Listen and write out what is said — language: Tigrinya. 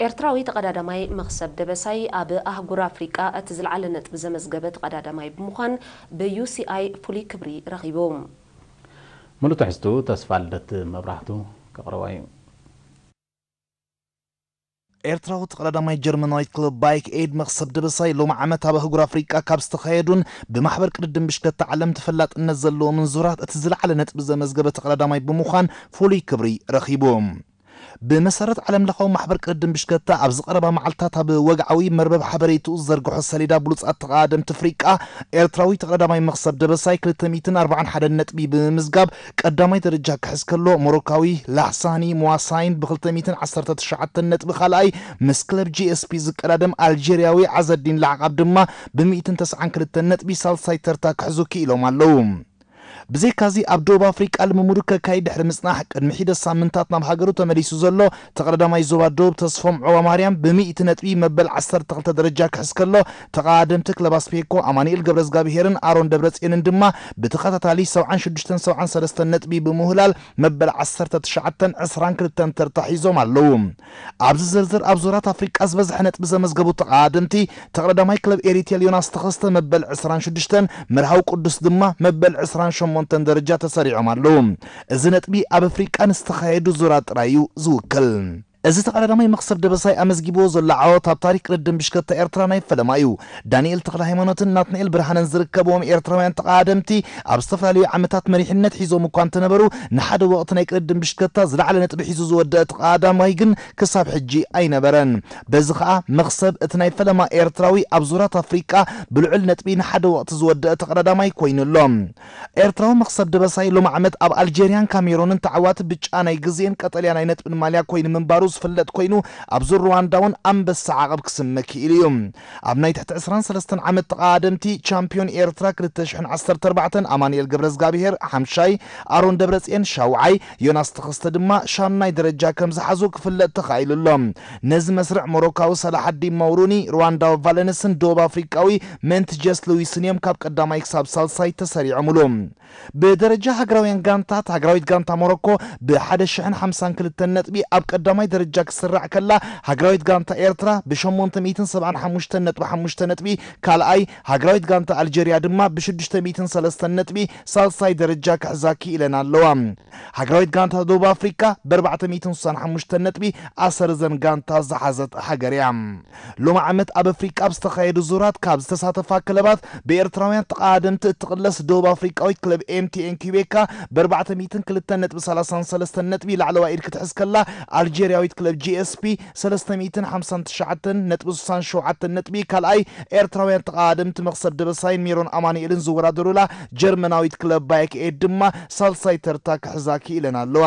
ኤርትራዊ ተቐዳዳማይ መኽሰብ ደበሳይ ኣብ ኣህጉር ኣፍሪቃ እቲ ዝለዓለ ነጥቢ ዘመዝገበ ተቐዳዳማይ ብምዃን ብ ዩ ሲ ኣይ ፍሉይ ክብሪ ረኺቡ። ሙሉእ ትሕዝትኡ ተስፋ ልደት መብራህቱ ከቕርባ እዩ። ኤርትራዊ ተቐዳዳማይ ጀርመናዊት ክለብ ባይክ ኤድ መኽሰብ ደበሳይ ሎሚ ዓመት ኣብ ኣህጉር ኣፍሪቃ ካብ ዝተኻየዱን ብማሕበር ቅድድም ብሽከታ ዓለም ተፈላጥነት ዘለዎምን ዙራት እቲ ዝለዓለ ነጥቢ ዘመዝገበ ተቐዳዳማይ ብምዃን ፍሉይ ክብሪ ረኺቡ። ብመሰረት ዓለምለኻዊ ማሕበር ቅድድም ብሽከታ ኣብዚ ቀረባ መዓልታት ኣብ ወግዓዊ መርበብ ሓበሬትኡ ዝዘርግሖ ሰሌዳ ብሉጻት ተቐዳደምቲ ኣፍሪቃ ኤርትራዊ ተቐዳዳማይ መኽሰብ ደበሳይ ክልተ ሚእትን ኣርባዓን ሓደን ነጥቢ ብምምዝጋብ ቀዳማይ ደረጃ ክሕዝ ከሎ ሞሮካዊ ላሕሳኒ ሙዋሳይን ብ ክልተ ሚእትን ዓሰርተ ትሽዓተን ነጥቢ ካልኣይ ምስ ክለብ ጂ ኤስ ፒ ዝቀዳደም ኣልጀርያዊ ዓዘዲን ላዕቃብ ድማ ብ ሚእትን ተስዓን ክልተን ነጥቢ ሳልሳይ ተርታ ክሕዙ ክኢሎም ኣለዉ። ብዘይካዚ ኣብ ደቡብ ኣፍሪቃ ልምምዱ ከካይድ ድሕሪ ምጽናሕ ቅድሚ ሒደት ሳምንታት ናብ ሃገሩ ተመሊሱ ዘሎ ተቐዳዳማይ ዞባ ደቡብ ተስፎም ዑባማርያም ብሚእቲ ነጥቢ መበል ዓሰርተ ክልተ ደረጃ ክሕዝ ከሎ ተቐዳደምቲ ክለብ ኣስፔኮ ኣማኑኤል ገብረዝጋብሄርን ኣሮን ደብረጽዮንን ድማ ብተኸታታሊ ሰብዓን ሽዱሽተን ሰብዓን ሰለስተን ነጥቢ ብምውህላል መበል ዓሰርተ ትሽዓተን ዕስራን ክልተን ተርታ ሒዞም ኣለዉ። ኣብዚ ዝርዝር ኣብ ዙራት ኣፍሪቃ ዝበዝሐ ነጥቢ ዘመዝገቡ ተቐዳደምቲ ተቐዳዳማይ ክለብ ኤሪቴል ዮናስ ተኸስተ መበል ዕስራን ሽዱሽተን፣ መርሃዊ ቅዱስ ድማ መበል ዕስራን ሸሞንተን ደረጃ ተሰሪዖም ኣለዉ። እዚ ነጥቢ ኣብ ኣፍሪቃ ንዝተኻየዱ ዙራት ጥራይ እዩ ዝውክል። እዚ ተቐዳዳማይ መኽሰብ ደበሳይ ኣመዝጊብዎ ዘሎ ዓወት ኣብ ታሪክ ቅድድም ብሽከታ ኤርትራ ናይ ፈለማ እዩ። ዳንኤል ተኽለ ሃይማኖትን ናትናኤል ብርሃነን ዝርከብዎም ኤርትራውያን ተቐዳደምቲ ኣብ ዝተፈላለዩ ዓመታት መሪሕነት ሒዞም እኳ እንተነበሩ ንሓደ ወቕቲ ናይ ቅድድም ብሽከታ ዝለዓለ ነጥቢ ሒዙ ዝወደአ ተቐዳዳማይ ግን ክሳብ ሕጂ ኣይነበረን። በዚ ኸኣ መኽሰብ እቲ ናይ ፈለማ ኤርትራዊ ኣብ ዙራት ኣፍሪቃ ብልዑል ነጥቢ ንሓደ ወቕቲ ዝወደአ ተቐዳዳማይ ኮይኑ ኣሎ። ኤርትራዊ መኽሰብ ደበሳይ ሎሚ ዓመት ኣብ ኣልጀርያን ካሜሮንን ተዓዋቲ ብጫ ናይ ግዜን ቀጠልያ ናይ ነጥብን ማልያ ኮይኑ ምንባሩ ዝፍለጥ ኮይኑ ኣብዚ ሩዋንዳ እውን ኣንበሳ ዓቐብ ክስመ ክኢሉ እዩ። ኣብ ናይ ትሕቲ ዕስራን ሰለስተን ዓመት ተቐዳደምቲ ቻምፒዮን ኤርትራ ክልተ ሽሕን ዓሰርተ ኣርባዕተን ኣማኑኤል ገብረዝጋብሄር ሓምሻይ፣ ኣሮን ደብረጽዮን ሻውዓይ፣ ዮናስ ተኸስተ ድማ ሻምናይ ደረጃ ከም ዝሓዙ ክፍለጥ ተኻኢሉ ኣሎ። ነዚ መስርዕ ሞሮካዊ ሰላሓዲን መውሩኒ፣ ሩዋንዳዊ ቫለንስን ደቡብ ኣፍሪቃዊ መንትጀስ ሉዊስን እዮም ካብ ቀዳማይ ክሳብ ሳልሳይ ተሰሪዖምሉ። ብደረጃ ሃገራውያን ጋንታት፣ ሃገራዊት ጋንታ ሞሮኮ ብ ሓደ ሽሕን ሓምሳን ክልተን ነጥቢ ኣብ ቀዳማይ ደረጃ ክትስራዕ ከላ፣ ሃገራዊት ጋንታ ኤርትራ ብ ሸሞንተ ሚእትን ሰብዓን ሓሙሽተን ነጥቢ ሓሙሽተ ነጥቢ ካልኣይ፣ ሃገራዊት ጋንታ ኣልጀርያ ድማ ብ ሽዱሽተ ሚእትን ሰለስተን ነጥቢ ሳልሳይ ደረጃ ክሕዛ ክኢለን ኣለዋ። ሃገራዊት ጋንታ ደቡብ ኣፍሪቃ ብ ኣርባዕተ ሚእትን ስሳን ሓሙሽተን ነጥቢ ኣሰር እዘን ጋንታ ዝሓዘት ሃገር እያ። ሎሚ ዓመት ኣብ ኣፍሪቃ ኣብ ዝተኻየዱ ዙራት ካብ ዝተሳተፋ ክለባት ብኤርትራውያን ተቐዳደምቲ እትቕለስ ደቡብ ኣፍሪቃዊት ክለብ ኤምቲኤን ኪቤካ ብ ኣርባዕተ ሚእትን ክልተን ነጥቢ ሰላሳን ሰለስተን ነጥቢ ላዕለዋይ ኢድ ክትሕዝ ከላ፣ ኣልጀርያዊት ክለብ ጂ ኤስ ፒ ሰለስተ ሚእትን ሓምሳን ትሽዓተን ነጥቢ ስሳን ሸውዓተን ነጥቢ ካልኣይ፣ ኤርትራውያን ተቐዳደምቲ መኽሰብ ደበሳይን ሜሮን ኣማኑኤልን ዝወዳደሩላ ጀርመናዊት ክለብ ባየክ ኤድ ድማ ሳልሳይ ተርታ ክሕዛ ክኢለን ኣለዋ።